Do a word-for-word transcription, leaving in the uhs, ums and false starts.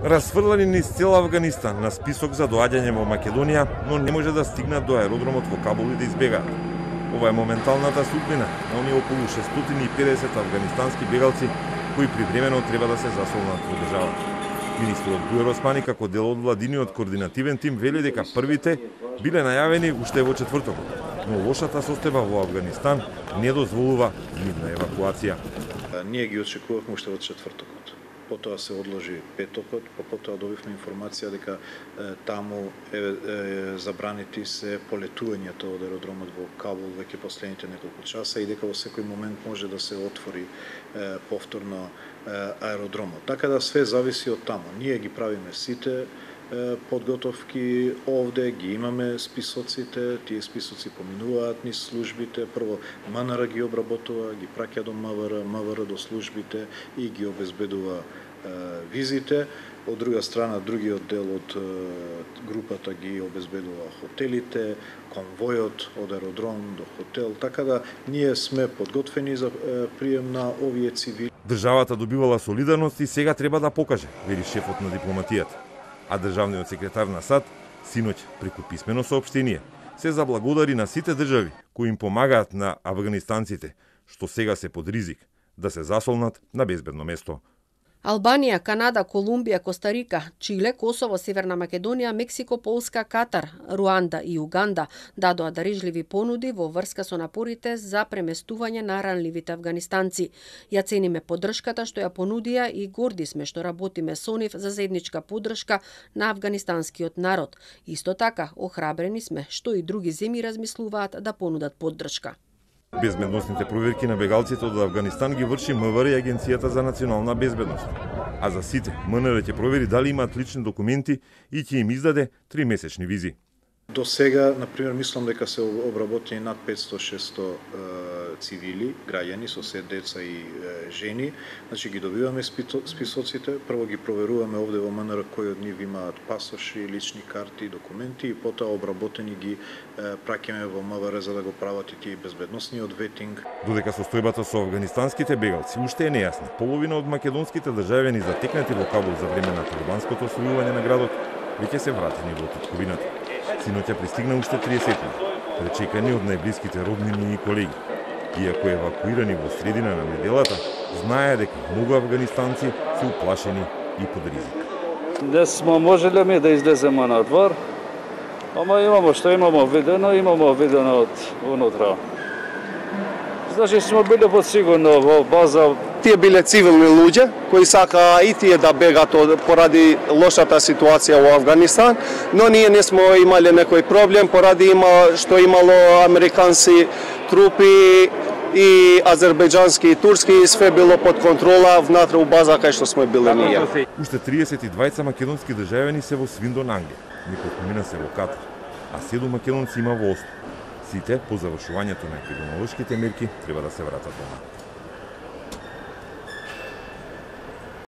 Расфрлани низ цел Авганистан на список за доаѓање во Македонија, но не може да стигнат до аеродромот во Кабул и да избегаат. Ова е моменталната судбина на оние околу шестстотини и педесет афганистански бегалци кои привремено треба да се засолнат во државата. Министерот Бујар Османи како дел од владиниот координативен тим вели дека првите биле најавени уште во четвртокот, но лошата состојба во Авганистан не дозволува нивна евакуација. Ние ги очекувавме уште од четвртокот. Потоа се одложи петокот, па потоа добивме информација дека е, таму е, е, забранети се полетувањето од аеродромот во Кабул веќе последните неколку часа и дека во секој момент може да се отвори е, повторно е, аеродромот. Така да све зависи од таму. Ние ги правиме сите е, подготовки овде, ги имаме списоците, тие списоци поминуваат низ службите, прво МНР ги обработува, ги праќа до МВР, МВР до службите и ги обезбедува визите. Од друга страна, другиот дел од групата ги обезбедува хотелите, конвојот од аеродром до хотел, така да ние сме подготвени за прием на овие цивили. Државата добивала солидарност и сега треба да покаже, вели шефот на дипломатијата. А државниот секретар на САД, синоќ преку писмено соопштение, се заблагодари на сите држави кои им помагаат на афганистанците, што сега се под ризик да се засолнат на безбедно место. Албанија, Канада, Колумбија, Костарика, Чиле, Косово, Северна Македонија, Мексико, Полска, Катар, Руанда и Уганда дадоа дарежливи понуди во врска со напорите за преместување на ранливите афганистанци. Ја цениме поддршката што ја понудија и горди сме што работиме со нив за заедничка поддршка на афганистанскиот народ. Исто така, охрабрени сме што и други земји размислуваат да понудат поддршка. Безбедносните проверки на бегалците од Авганистан ги врши МВР и Агенцијата за национална безбедност. А за сите, МНР ќе провери дали имаат лични документи и ќе им издаде тримесечни визи. До сега, например, мислам дека се обработени над петсто шесто е, цивили, граѓани со се деца и е, жени. Значи ги добиваме списоците, прво ги проверуваме овде во МНР кои од нив имаат пасоши, лични карти, документи и потоа обработени ги е, праќаме во МВР за да го прават и тие безбедносниот ветинг. Додека состојбата со афганистанските бегалци уште е нејасна, половина од македонските државјани затекнати во Кабул за време на талибанското освојување на градот веќе се вратени во татковината. Синоќа пристигна уште триесетина, пречекани од најблиските роднини и колеги. Иако евакуирани во средина на неделата, знае дека многу афганистанци се уплашени и под ризик. Не смо можеле ми да излеземе на двор, ама имамо што имамо видено, имамо видено од внутра. Значи смо биле подсигурно во база. Тие биле цивилни луѓе кои сакаа и тие да бегат поради лошата ситуација во Афганистан, но ние не смо имале некој проблем поради има што имало американски трупи и азербејџански и турски, све било под контрола внатре у база кај што сме биле ние. Уште триесет и двајца македонски државјани се во Свиндон, Англија, неколку мина се во Катар, а седум македонци има во Осло. Сите по завршувањето на епидемиолошките мерки треба да се вратат дома.